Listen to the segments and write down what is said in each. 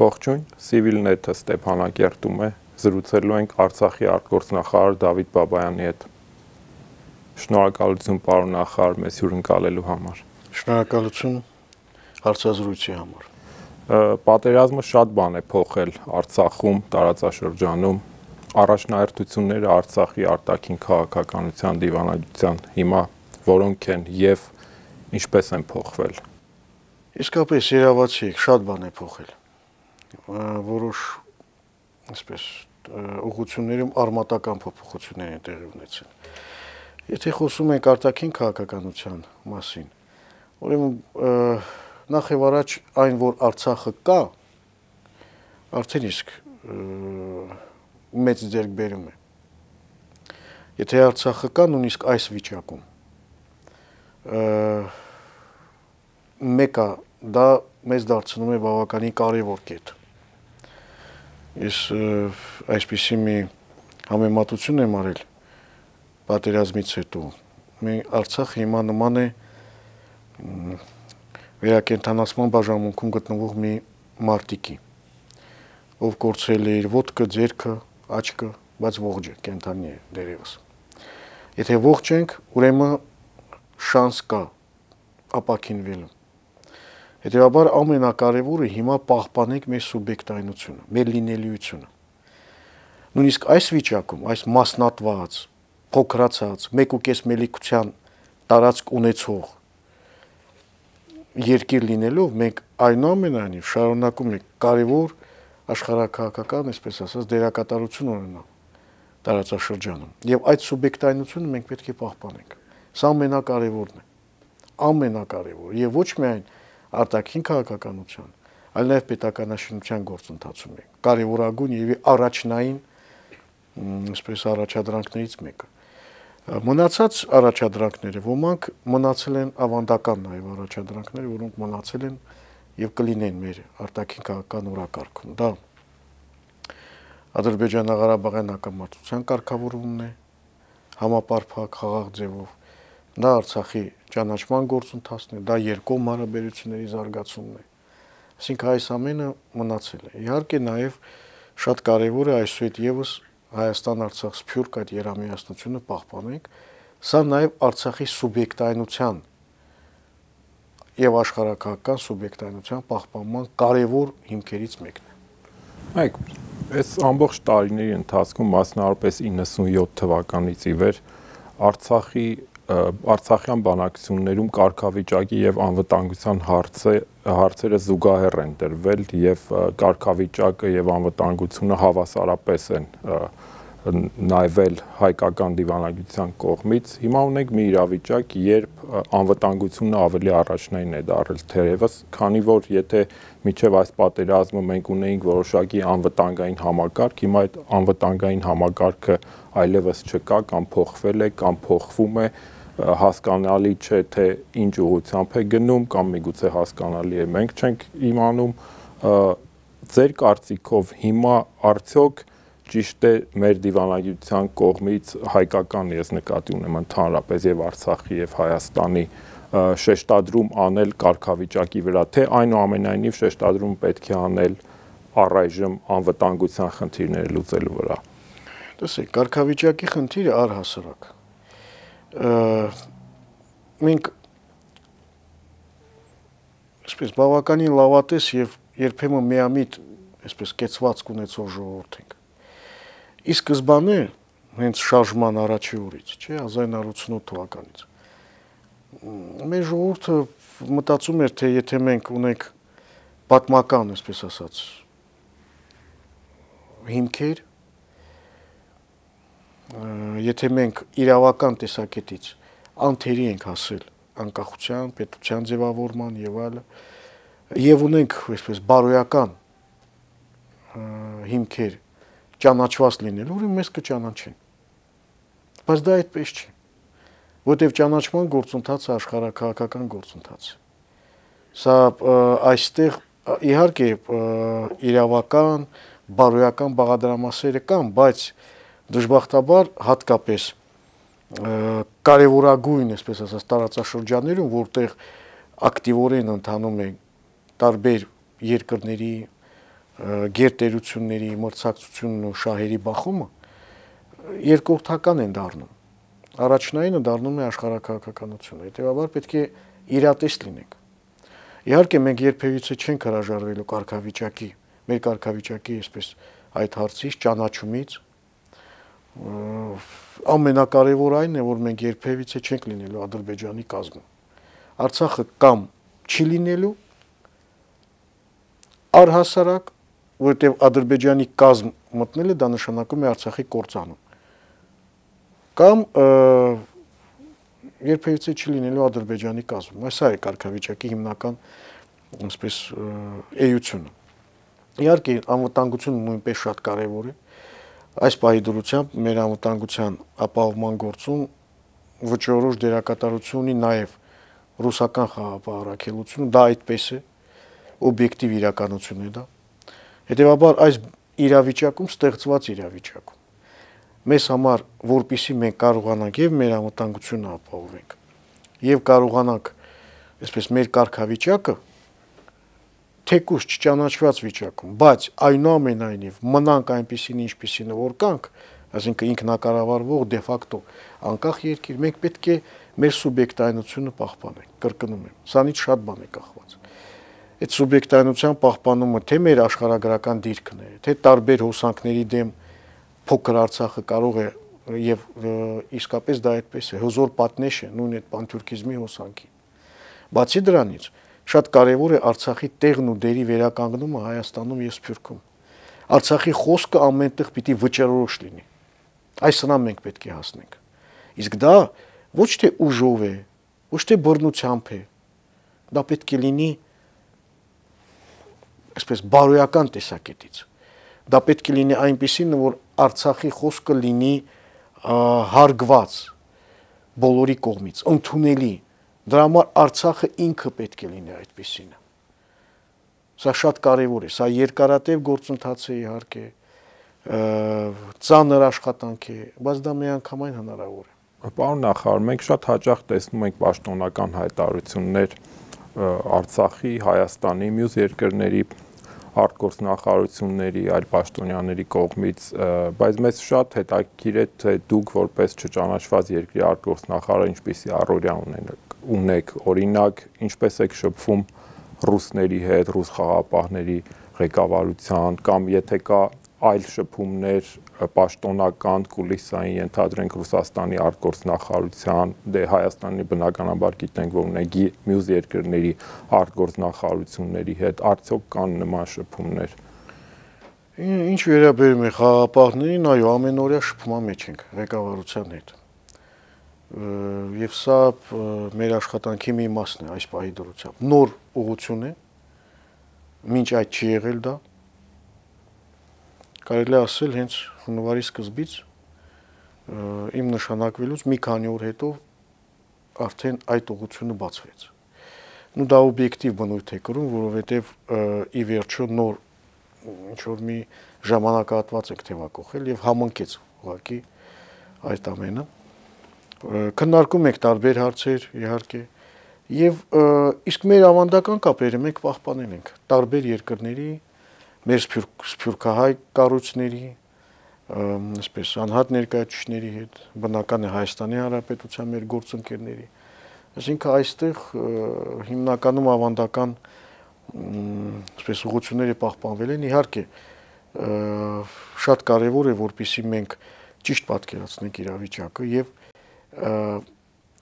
Ողջույն, Civilnet-ը Ստեփանակերտում է, զրուցելու ենք Արցախի արտգործնախարար Դավիթ Բաբայանի հետ։ Շնորհակալություն պարոն նախարար մեզ հյուրընկալելու համար։ Շնորհակալություն հարցազրույցի համար։ Պատերազմը շատ բան է փոխել Արցախում, տարածաշրջանում, առաջնահերթությունները Արցախի արտաքին քաղաքականության դիվանագիտության հիմա որոնք են եւ ինչպես են փոխվել։ Իսկապես երևացի շատ բան է փոխել։ Որոշ այսպես ուղղություններում արմատական փոփոխություններ են տեղի ունեցել։ Եթե խոսում ենք արտաքին քաղաքականության մասին, ուրեմն նախ եւ առաջ այն, որ Արցախը կա, արդեն իսկ մեծ ձեռքբերում է։ Եթե Արցախը կա, նույնիսկ այս վիճակում մեկը դա մեզ դարձնում է բավականին կարևոր կետ։ Ես այսպիսի մի համեմատություն եմ արել պատերազմից հետո։ Արցախը հիմա նման է վերակենդանացման բաժանմունքում գտնվող մի մարտիկի, ով կորցրել է իր ոտքը, ձեռքը, աչքը, բայց ողջ է, կենդանի է դերևս։ Եթե ողջ ենք, ուրեմն շանս կա ապաքինվելու։ Հետևաբար ամենակարևորը հիմա պահպանենք մեր սուբյեկտայնությունը, մեր լինելիությունը։ Նույնիսկ այս վիճակում, այս մասնատված, փոքրացած, 1.5 միլիոնության տարածք ունեցող երկիր լինելով, մենք այնուամենայնիվ շարունակում ենք կարևոր աշխարհաքաղաքական, այսպես ասած, դերակատարություն ունենալ տարածաշրջանում։ Եվ այդ սուբյեկտայնությունը մենք պետք է պահպանենք։ Սա ամենակարևորն է։ Ամենակարևորը եւ ոչ միայն արտաքին քաղաքականության, այլ նաեւ պետականաշինության գործընթացում է կարևորագույն եւ առաջնային, այսպես առաջադրանքներից մեկը։ Մնացած առաջադրանքները ոմանք մնացել են ավանդական նաեւ առաջադրանքները, որոնք մնացել են եւ կլինեն մեր արտաքին քաղաքական օրակարգում։ Դա Ադրբեջանա-Ղարաբաղյան հակամարտության կարգավորումն է, համապարփակ խաղաղ ձևով։ Դա Արցախի ճանաչման գործընթացն է, դա երկկողմ հարաբերությունների զարգացումն է։ Այսինքն այս ամենը մնացել է։ Իհարկե նաև շատ կարևոր է այսուհետ եւս Հայաստան-Արցախ սփյուռք այդ երամիասնությունը պահպանենք։ Սա նաև Արցախի սուբյեկտայնության եւ աշխարհաքաղաքական սուբյեկտայնության պահպանման կարևոր հիմքերից մեկն է։ Այո, այս ամբողջ տարիների ընթացքում, մասնավորապես 97 թվականից ի վեր, Արցախյան բանակցություններում կարգավիճակի եւ անվտանգության հարցերը զուգահեռ են դրվել եւ կարգավիճակը եւ անվտանգությունը հավասարապես են նայվել հայկական դիվանագիտության կողմից։ Հիմա ունենք մի իրավիճակ, երբ անվտանգությունը ավելի առաջնային է դարձել թերևս, քանի որ եթե միջև այս պատերազմը մենք ունեինք որոշակի անվտանգային համակարգ, հիմա այդ անվտանգային համակարգը այլևս չկա կամ փոխվել է կամ փոխվում է, հասկանալի չէ թե ինչ ուղղությամբ է գնում կամ միգուցե հասկանալի է մենք չենք իմանում։ Ձեր կարծիքով հիմա արդյոք ճիշտ է մեր դիվանագիտության կողմից հայկական, ես նկատի ունեմ ընդհանրապես եւ Արցախի եւ Հայաստանի շեշտադրում անել կարգավիճակի վրա, թե այնուամենայնիվ շեշտադրում պետք է անել առայժմ անվտանգության խնդիրները լուծելու վրա։ Տեսեք, կարգավիճակի խնդիրը առհասարակ մենք այսպես բավականին լավատես եւ երբեմն միամիտ այսպես կեցվածք ունեցող ժողովուրդ ենք։ Ի սկզբանե հենց շարժման առաջի օրից, չէ, 1988 թվականից մեր ժողովուրդը մտածում էր, թե եթե մենք ունենք պատմական, այսպես ասած, հիմքեր, եթե մենք իրավական տեսակետից անթերի ենք հասել անկախության, պետության ձևավորման եւ այլն, եւ ունենք այսպես բարոյական հիմքեր ճանաչված լինելու, ուրեմն մեզ կճանաչեն։ Բայց դա այդպես չի, որտեղ ճանաչման գործընթացը աշխարհաքաղաքական գործընթաց է։ Սա այստեղ իհարկե իրավական, բարոյական բաղադրամասերը կան, բայց դժբախտաբար հատկապես կարևորագույն, այսպես ասած, տարածաշրջաններում, որտեղ ակտիվորեն ընթանում է տարբեր երկրների գերտերությունների մրցակցությունն ու շահերի բախումը երկրորդական են դառնում։ Առաջնայինը դառնում է աշխարհաքաղաքականությունը։ Հետևաբար պետք է իրատեստ լինենք։ Իհարկե մենք երբևիցե չենք հրաժարվելու կարգավիճակի, մեր կարգավիճակի այսպես այդ հարցից ճանաչումից։ Ամենակարևոր այն է, որ մենք երբևիցե չենք լինելու Ադրբեջանի կազմում։ Արցախը կամ չի լինելու առհասարակ, որովհետև Ադրբեջանի կազմ մտնելը դա նշանակում է Արցախի կործանում։ Կամ երբևիցե չի լինելու Ադրբեջանի կազմում։ Այս է կարգավիճակի հիմնական այսպես էությունը։ Իհարկե անվտանգությունը նույնպես շատ կարևոր է։ Այս պահի դրությամբ մեր անվտանգության ապահովման գործում վճռորոշ դերակատարություն ունի նաև ռուսական խաղաղ առաքելությունը, դա այդպես է, օբյեկտիվ իրականություն է դա։ Հետևաբար այս իրավիճակում ստեղծված իրավիճակում մեզ համար, որպեսզի մենք կարողանանք եւ մեր անվտանգությունը ապահովենք եւ կարողանանք այսպես մեր կարգավիճակը թեկուզ չճանաչված վիճակում, բայց այնուամենայնիվ մնանք այնպիսին, ինչպիսին որ կանք, այսինքն ինքնակառավարվող դե ֆակտո անկախ երկիր, մենք պետք է մեր սուբյեկտայնությունը պահպանենք, կրկնում եմ, սրանից շատ բան է կախված։ Այդ սուբյեկտայնության պահպանումը թե մեր աշխարհագրական դիրքն է, թե տարբեր հոսանքների դեմ փոքր Արցախը կարող է եւ իսկապես դա այդպես է, հզոր պատնեշ է նույն այդ պանթուրքիզմի հոսանքի։ Բացի դրանից, շատ կարևոր է Արցախի տեղն ու դերի վերականգնումը Հայաստանում եւ Սփյուռքում։ Արցախի խոսքը ամենտեղ պիտի վճռորոշ լինի։ Այս սրան մենք պետք է հասնենք։ Իսկ դա ոչ թե ուժով է, ոչ թե բռնությամբ է, դա պետք է լինի այսպես բարոյական տեսակետից։ Դա պետք է լինի այնպիսին, որ Արցախի խոսքը լինի հարգված բոլորի կողմից, ընդունելի։ Դրա համար Արցախը ինքը պետք է լինի այդպիսինը։ Սա շատ կարևոր է, սա երկարատև գործընթաց է իհարկե, ծանր աշխատանք է, բայց դա միանգամայն հնարավոր է։ Պարոն նախարար, մենք շատ հաճախ տեսնում ենք պաշտոնական հայտարարություններ Արցախի, Հայաստանի, մյուս երկրների արտգործնախարարությունների, այլ պաշտոնյաների կողմից, բայց մեզ շատ հետաքրքիր է, թե դուք որպես չճանաչված երկրի արտգործնախարար ինչպիսի առօրյա ունեք, օրինակ, ինչպես եք շփվում ռուսների հետ, ռուս խաղաղապահների ղեկավարության, կամ եթե կա այլ շփումներ պաշտոնական, կուլիսային, ենթադրենք Ռուսաստանի արտգործնախարարության, դե Հայաստանի բնականաբար գիտենք, որ ունի մյուս երկրների արտգործնախարարությունների հետ, արդյոք կան նման շփումներ։ Ինչ վերաբերում է խաղաղապահներին, այո, ամենօրյա շփման մեջ ենք ղեկավարության հետ։ Եվ սա մեր աշխատանքի մի մասն է այս պահի դրությամբ։ Նոր ուղղություն է, մինչ այդ չի եղել դա։ Կարելի է ասել հենց հունվարի սկզբից իմ նշանակվելուց մի քանի օր հետո արդեն այդ ուղղությունը բացվեց։ Ու դա օբյեկտիվ բնույթ է կրում, որովհետև ի վերջո նոր ինչ-որ մի ժամանակահատված եք թևակողել եւ համընկեց ուղղակի այդ ամենը։ Քննարկում ենք տարբեր հարցեր, իհարկե, եւ իսկ մեր ավանդական կապերը մենք պահպանել ենք տարբեր երկրների, մեր սփյուռքահայ կառույցների, այսպես անհատ ներկայացուցիչների հետ, բնական է Հայաստանի Հանրապետության մեր գործընկերների։ Այսինքն այստեղ հիմնականում ավանդական այսպես ուղղությունները պահպանվել են, իհարկե շատ կարևոր է, որպեսզի մենք ճիշտ պատկերացնենք իրավիճակը եւ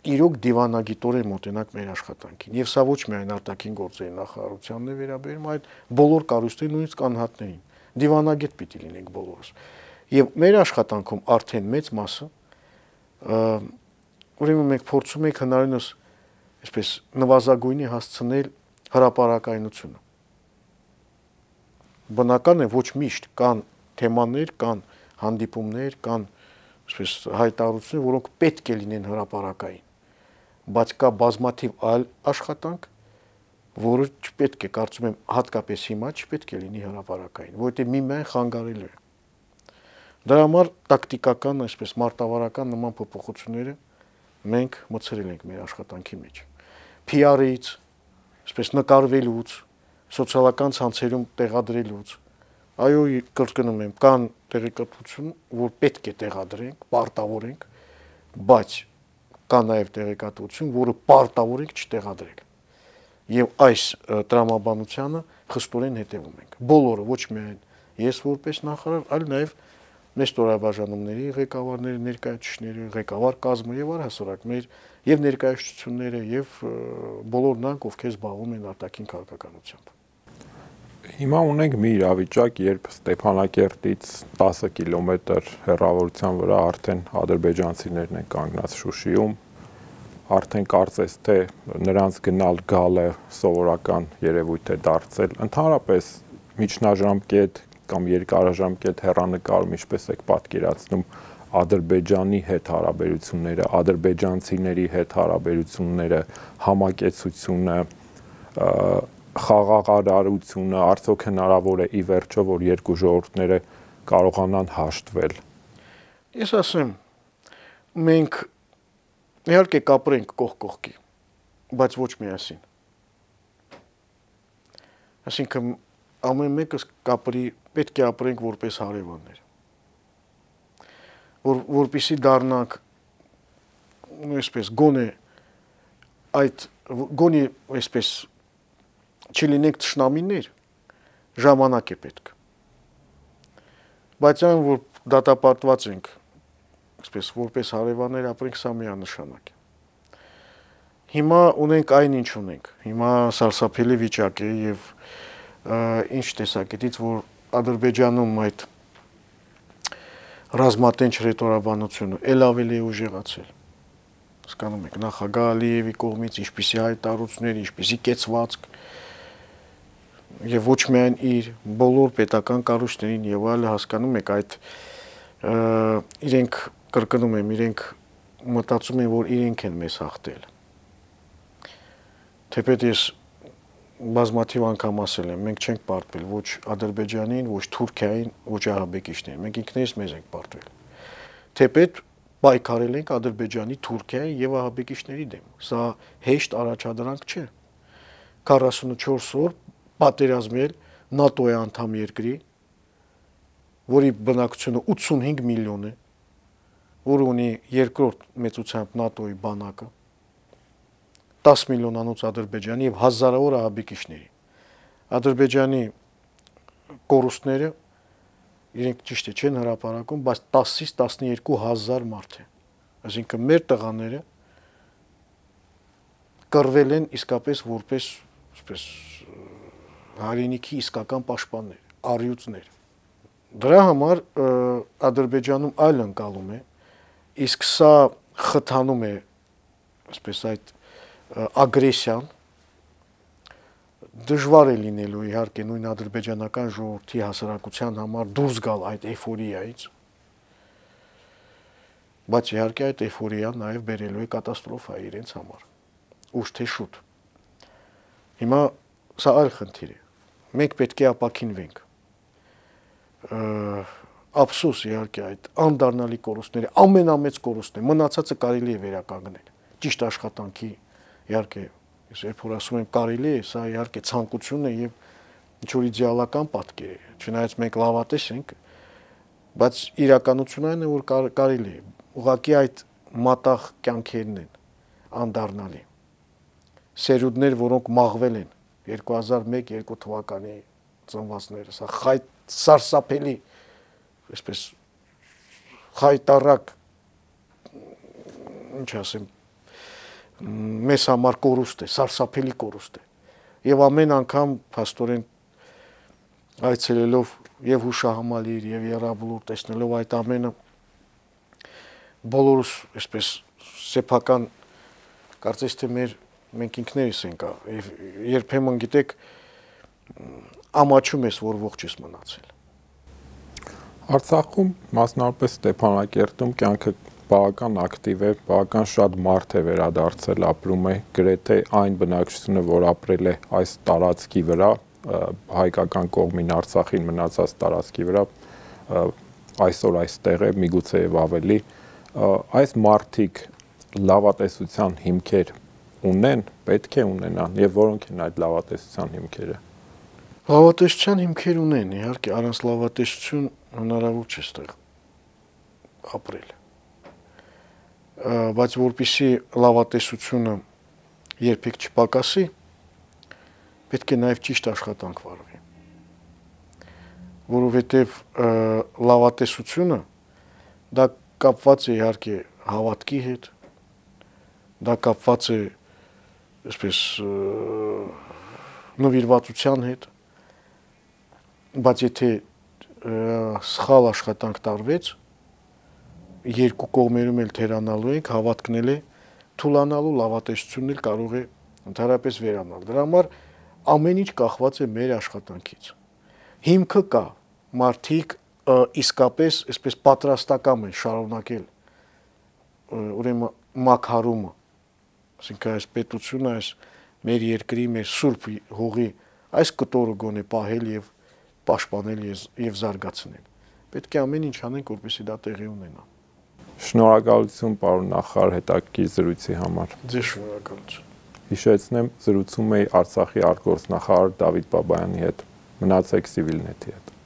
իրոք դիվանագիտորեն մոտենանք մեր աշխատանքին։ Եվ սա ոչ միայն արտաքին գործերի նախարարությանն է վերաբերում, այլ բոլոր կառույցներին, նույնիսկ անհատներին։ Դիվանագետ պիտի լինենք բոլորս։ Եվ մեր աշխատանքում արդեն մեծ մասը ուրեմն մենք փորձում ենք հնարավորինս այսպես նվազագույնի հասցնել հրապարակայնությունը։ Բնական է ոչ միշտ կան թեմաներ, կան հանդիպումներ, կան այսպես հայտարարություններ, որոնք պետք է լինեն հրապարակային, բայց կա բազմաթիվ այլ աշխատանք, որը չպետք է, կարծում եմ, հատկապես հիմա չպետք է լինի հրապարակային, որովհետև միմիայն խանգարելու է։ Դրա համար տակտիկական, այսպես մարտավարական նման փոփոխությունները մենք մտցրել ենք մեր աշխատանքի մեջ։ PR-ից, այսպես նկարվելուց, սոցիալական ցանցերում տեղադրելուց, այո, կրկնում եմ, կան տեղեկատվություն, որ պետք է տեղադրենք, պարտավորենք, բայց կա նաև տեղեկատվություն, որը պարտավոր ենք չտեղադրել։ Եվ այս տրամաբանությանը խստորեն հետևում ենք։ Բոլորը, ոչ միայն ես որպես նախարար, այլ նաև մեր ստորաբաժանումների ղեկավարները, ներկայացուցիչները, ղեկավար կազմը եւ առհասարակ մեր եւ ներկայացությունները եւ բոլոր նրանք, ովքեր զբաղվում են արտաքին քաղաքականությամբ։ Հիմա ունենք մի իրավիճակ, երբ Ստեփանակերտից 10 կիլոմետր հեռավորության վրա արդեն ադրբեջանցիներն են կանգնած Շուշիում, արդեն կարծես թե նրանց գնալ-գալը սովորական երևույթ է դարձել։ Ընդհանրապես միջնաժամկետ կամ երկարաժամկետ հեռանկարում ինչպես եք պատկերացնում Ադրբեջանի հետ հարաբերությունները, ադրբեջանցիների հետ հարաբերությունները, համակեցությունը, խաղաղարարությունը, արդյոք հնարավոր է ի վերջո, որ երկու ժողովուրդները կարողանան հաշտվել։ Ես ասեմ, մենք իհարկե կապրենք կողք կողքի, բայց ոչ միասին։ Այսինքն ամեն մեկս կապրի, պետք է ապրենք որպես հարևաններ, որպեսզի դառնանք այսպես գոնե այսպես չլինենք թշնամիներ, ժամանակ է պետք, բայց այն որ դատապարտված ենք, այսպես որպես հարևաններ ապրենք, սա միանշանակ է։ Հիմա ունենք այն ինչ ունենք, հիմա սարսափելի վիճակ է եւ ինչ տեսակետից, որ Ադրբեջանում այդ ռազմատենչ ռետորաբանությունը ել ավելի ուժեղացել։ Հասկանում եք, նախագահ Ալիևի կողմից ինչպիսի հայտարարություններ, ինչպիսի կեցվածք եւ ոչ միայն իր բոլոր պետական կառույցներին եւ այլը, հասկանում եք, այդ իրենք կրկնում եմ, իրենք մտածում են, որ իրենք են մեզ հաղթել։ Թեպետ ես բազմաթիվ անգամ ասել եմ, մենք չենք պարտվել ոչ Ադրբեջանին, ոչ Թուրքիային, ոչ ահաբեկիչներին, մենք ինքներս մեզ ենք պարտվել։ Թեպետ պայքարել ենք Ադրբեջանի, Թուրքիայի եւ ահաբեկիչների դեմ։ Սա հեշտ առաջադրանք չէ։ 44 օր պատերազմել ՆԱՏՕ-ի անդամ երկրի, որի բնակչությունը 85 միլիոն է, որը ունի երկրորդ մեծությամբ ՆԱՏՕ-ի բանակը, 10 միլիոնանոց Ադրբեջանի եւ հազարավոր ահաբեկիչների։ Ադրբեջանի կորուստները իրենք ճիշտ է չեն հրապարակում, բայց 10-ից 12,000 մարդ է։ Այսինքն մեր տղաները կռվել են իսկապես որպես այսպես հայրենիքի իսկական պաշտպաններ, առյուծներ։ Դրա համար Ադրբեջանում այլ ընկալում է, իսկ սա խթանում է այսպես այդ ագրեսիան, դժվար է լինելու իհարկե նույն ադրբեջանական ժողովրդի հասարակության համար դուրս գալ այդ էյֆորիայից, բայց իհարկե այդ էյֆորիան նաև բերելու է կատաստրոֆա իրենց համար, ուշ թե շուտ։ Հիմա սա այլ խնդիր է, մենք պետք է ապաքինվենք, ափսոս իհարկե այդ անդառնալի կորուստները, ամենամեծ կորուստն է, մնացածը կարելի է վերականգնել, ճիշտ աշխատանքի իհարկե, ես երբ որ ասում եմ կարելի է, սա իհարկե ցանկություն է եւ ինչ-որ իդեալական պատկեր է, չնայած մենք լավատես ենք, բայց իրականությունն այն է, որ կարելի է, ուղղակի այդ մատաղ կյանքերն են անդառնալի, սերունդներ, որոնք մաղվել են 2001-2 թվականի ծնվածները, սա սարսափելի, այսպես խայտառակ, ինչ ասեմ, մեզ համար կորուստ է, սարսափելի կորուստ է։ Եվ ամեն անգամ փաստորեն այցելելով եւ հուշահամալիր եւ Եռաբլուր տեսնելով այդ ամենը բոլորս այսպես սեփական կարծես թե մենք ինքներս ենք եւ երբեմն գիտեք ամաչում ես որ ողջ ես մնացել։ Արցախում մասնավորապես Ստեփանակերտում կյանքը բավական ակտիվ է, բավական շատ մարդ է վերադարձել, ապրում է, գրեթե այն բնակչությունը, որ ապրել է այս տարածքի վրա, հայկական կողմին Արցախին մնացած տարածքի վրա, այսօր այստեղ է, միգուցե եւ ավելի, այս մարդիկ լավատեսության հիմքեր ունեն, պետք է ունենան, եւ որոնք են այդ լավատեսության հիմքերը։ Լավատեսության հիմքեր ունեն, իհարկե առանց լավատեսություն հնարավոր չէ ստեղ ապրել։ Բայց որպեսզի լավատեսությունը երբեք չպակասի, պետք է նաև ճիշտ աշխատանք վարվի։ Որովհետև լավատեսությունը դա կապված է իհարկե հավատքի հետ, դա կապված է այսպես նվիրվածության հետ, բայց եթե սխալ աշխատանք տարվեց, երկու կողմերում էլ թերանալու ենք, հավատքն էլ է թուլանալու, լավատեսությունն էլ կարող է ընդհանրապես վերանալ։ Դրա համար ամեն ինչ կախված է մեր աշխատանքից։ Հիմքը կա, մարդիկ իսկապես այսպես պատրաստական են շարունակել ուրեմն մաքարումը, այսինքն այս պետությունը, այս մեր երկրի, մեր սուրբ հողի այս կտորը գոնե պահել եւ պաշտպանել եւ զարգացնել։ Պետք է ամեն ինչ անենք, որպեսզի դա տեղի ունենա։ Շնորհակալություն, պարոն նախարար, հետաքրքիր զրույցի համար։ Ձեզ շնորհակալություն։ Հիշեցնեմ, զրուցում էի Արցախի արտգործնախարար Դավիթ Բաբայանի հետ։ Մնացեք Civilnet-ի հետ։